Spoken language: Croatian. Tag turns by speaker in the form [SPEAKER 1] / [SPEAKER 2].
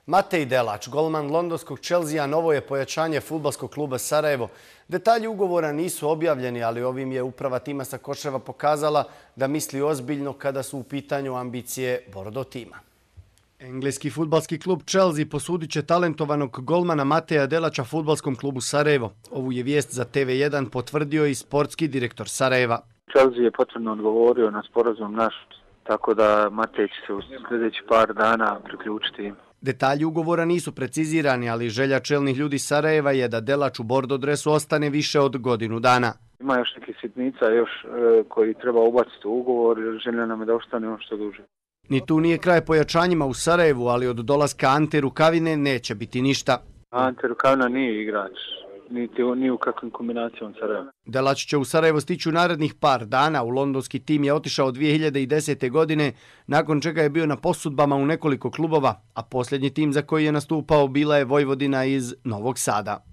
[SPEAKER 1] Matej Delač, golman londonskog Chelsea, novo je pojačanje fudbalskog kluba Sarajevo. Detalji ugovora nisu objavljeni, ali ovim je uprava tima sa Koševa pokazala da misli ozbiljno kada su u pitanju ambicije Bordo tima. Engleski fudbalski klub Chelsea posudit će talentovanog golmana Mateja Delača fudbalskom klubu Sarajevo. Ovu je vijest za TV1 potvrdio i sportski direktor Sarajeva.
[SPEAKER 2] Chelsea je potvrdno odgovorio na sporazum naš, tako da Matej će se u sljedeći par dana priključiti.
[SPEAKER 1] Detalji ugovora nisu precizirani, ali želja čelnih ljudi Sarajeva je da Delač u bordo dresu ostane više od godinu dana.
[SPEAKER 2] Ima još nekih sitnica koji treba ubaciti u ugovor, jer želja nam je da ostane ono što duže.
[SPEAKER 1] Ni tu nije kraj pojačanjima u Sarajevu, ali od dolaska Ante Rukavine neće biti ništa.
[SPEAKER 2] Ante Rukavina nije igrač, ni u kakvim kombinacijom Sarajeva.
[SPEAKER 1] Delač će u Sarajevo stići u narednih par dana. U londonski tim je otišao 2010. godine, nakon čega je bio na posudbama u nekoliko klubova, a posljednji tim za koji je nastupao bila je Vojvodina iz Novog Sada.